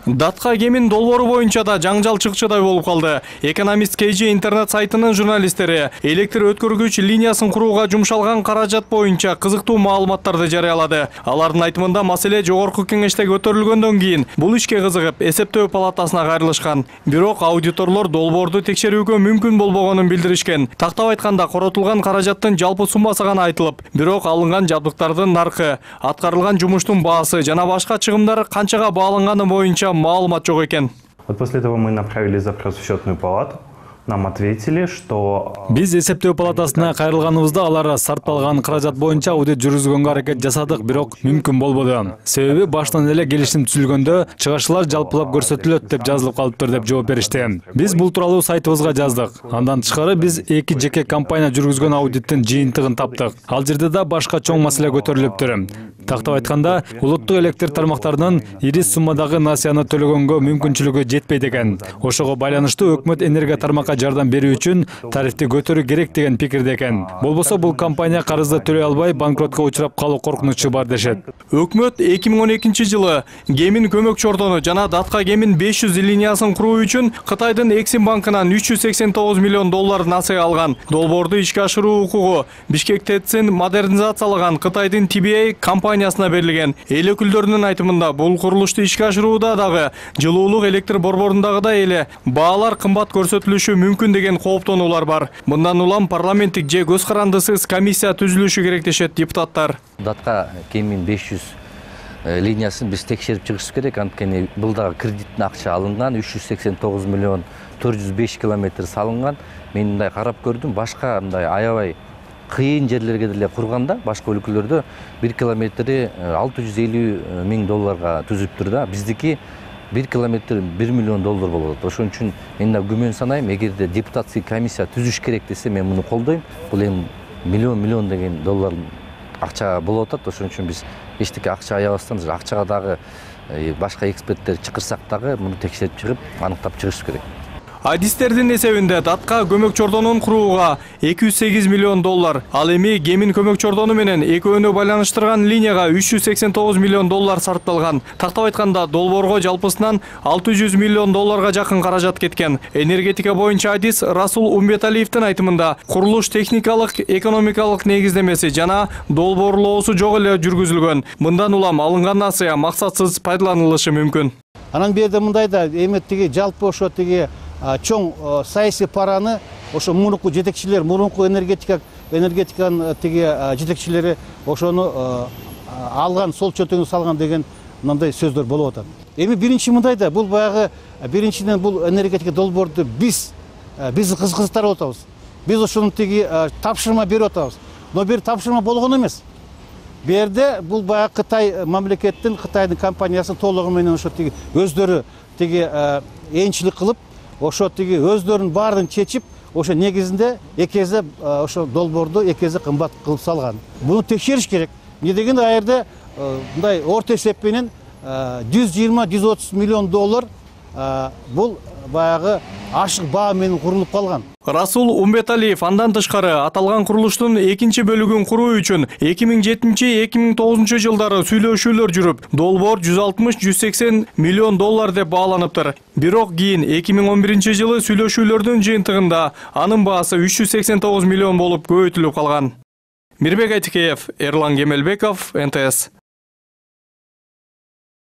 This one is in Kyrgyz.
Датка кемин долбоору боюнча да жаңжал чыкчыдай болуп калды. Экономист KG интернет сайтынын журналисттери электр өткөргүч линиясын курууга жумшалган каражат боюнча кызыктуу маалыматтарды жарыялады. Алардын айтымында маселе жогорку кеңеште көтөрүлгөндөн кийин бул ишке кызыгып эсептөө палатасына кайрылышкан. Бирок аудиторлор долбоорду текшерүүгө мүмкүн болбогонун билдиришкен. Тактап айтканда коротулган каражаттын жалпы суммасы гана айтылып, бирок алынган жабдыктардын наркы, аткарылган жумуштун баасы жана башка чыгымдар канчага бааланганы боюнча маалымат жок экен. Вот после того мы направили запрос в счетную палату. Нам ответили, что биз эсептөө палатасына кайрылганыбызда алар сарпталган каражат боюнча аудит жүргүзгөнгө аракет жасадык, бирок мүмкүн болбоду. Себеби баштан эле келишим түзүлгөндө чыгышчылар жалпылап көрсөтүлөт деп жазылып калыптыр деп жооп беришти. Биз бул тууралуу сайтыбызга жаздык. Андан тышкары биз эки жеке компания жүргүзгөн аудиттин жыйынтыгын таптык. Ал жерде да башка чоң маселе көтөрүлүптүр. Тактап айтканда, улуттук электр тармактарынын ири суммадагы насыяны төлөгөнгө мүмкүнчүлүгү жетпейт экен. Ошого байланыштуу өкмөт энергия тармакка жардам берүү үчүн тарифти көтөрүү керек деген пикирде экен. Болбосо бул компания карызды төлөй албай банкротко учурап калуу коркунучу бар дешет. Өкмөт 2012-жылы Кемин көмөк чордону жана Датка Кемин 500 линиясын куруу үчүн Кытайдын Эксим банкынан 389 миллион доллар насыя алган. Долбоорду ишке ашыруу укугу Бишкек ТЭЦ-ин модернизациялаган Кытайдын TBA компаниясына берилген. Эл өкүлдөрүнүн айтымында бул курулушту ишке ашырууда дагы жылуулук электр борборундагыдай эле баалар кымбат көрсөтүлүшү мүмкүн деген кооптонуулар бар. Мындан улам парламенттик же көз карандысыз комиссия түзүлүшү керек дешет депутаттар. Датка Кемин 500 линиясын биз текшерип чыгышыбыз керек. Анткени бул дагы кредиттин акча алынган, 389 миллион 405 километр салынган. Мен мындай карап көрдүм, башка мындай аябай кыйын жерлерге деле курганда, башка өлкөлөрдө 1 километри 650 миң долларга түзүптүр да. Биздики 1 километр 1 миллион доллар болот. Ошон үчүн мен да күмөн санайм, эгерде депутаттык комиссия түзүш керек десе, мен муну колдойм. Бул эми миллион деген доллар акча болуп атат. Ошон үчүн биз эчтеке акча аябастан, акчага дагы башка эксперттер чакырсак дагы муну текшерип чыгып, аныктап чыгыш керек. Адистердин эсебинде Датка көмөк чордонун курууга 208 миллион доллар, ал эми Кемин көмөк чордону менен экөөнү байланыштырган линияга 389 миллион доллар сарпталган. Тактап айтканда, долбоорго жалпысынан 600 миллион долларга жакын каражат кеткен. Энергетика боюнча адис Расул Умбеталиевдин айтымында, курулуш техникалык, экономикалык негиздемеси жана долбоорлоосу жок эле жүргүзүлгөн. Мындан улам алынган насыя максатсыз пайдаланылышы мүмкүн. Анан берде мындай да эми тиги жалпы ошо тиги чоң саясий параны ошо мурунку жетекчилер, мурунку энергетиканын тиги жетекчилери ошону алган, сол чөтөңү салган деген мындай сөздөр болуп атат. Эми биринчи мындай да, бул баягы биринчиден бул энергетика долбоорду биз кызыктырып атабыз. Биз ошону тиги тапшырма берип атабыз. Но бир тапшырма болгон эмес. Бу жерде бул баягы Кытай мамлекеттин, Кытайдын компаниясы толугу менен ошо тиги өздөрү тиги энчилик кылып, ошо тиги өздөрүнүн баарын чечип, ошо негизинде экезе ошо долбоорду экезе кымбат кылып салган. Буну текшериш керек. Эмне дегенде а жерде мындай орто эсеп менен 120-130 миллион доллар бул баягы ашык баа менен курулуп калган. Расул Умбеталиев андан тышкары аталган курулуштун экинчи бөлүгүн куруу үчүн 2007-2009 жылдары сүйлөшүүлөр жүрүп, долбоор 160-180 миллион доллар деп бааланыптыр. Бирок кийин 2011 жылы сүйлөшүүлөрдүн жыйынтыгында анын баасы 389 миллион болуп көбөйтүлүп калган. Мирбек Айтикеев, Эрлан Кемелбеков, НТС.